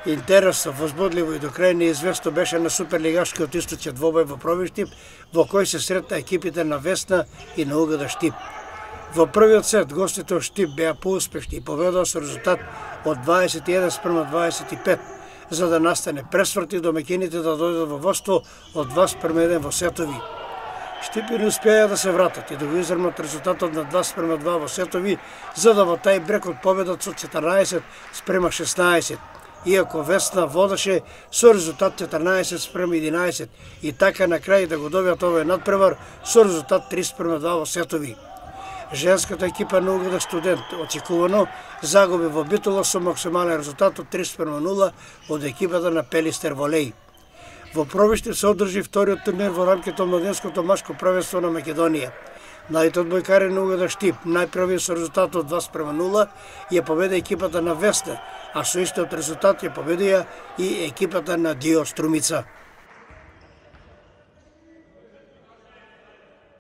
Интересно, возбудливо и до крај неизвестно беше на суперлигашкиот источен двобој во Провиштип, во кој се сретна екипите на Весна и на УГД Штип. Во првиот сет гостите од Штип беа поуспешни и победоа со резултат од 21:25, за да настане пресврт и домаќините да дојдат во водство од 2:1 во сетови. Штипи не успеа да се вратат и да го изрмат резултатот на 2:2 во сетови, за да во тај брекот победат со 14:16. Иако Весна водеше со резултат 14:11 и така на крај да го добијат овој надпревар со резултат 30:2 во сетови. Женската екипа на УГД Студент очекувано загуби во Битола со максимален резултат од 30:0 од екипата на Пелистер Волеј. Во Провиштип се одржи вториот турнир во рамките од младенското машко првенство на Македонија. Најдите одбојкари на УГД Штип најпрви со резултат од 2:0 ја победи екипата на Весна, а со истиот резултат ја победија и екипата на Дио Струмица.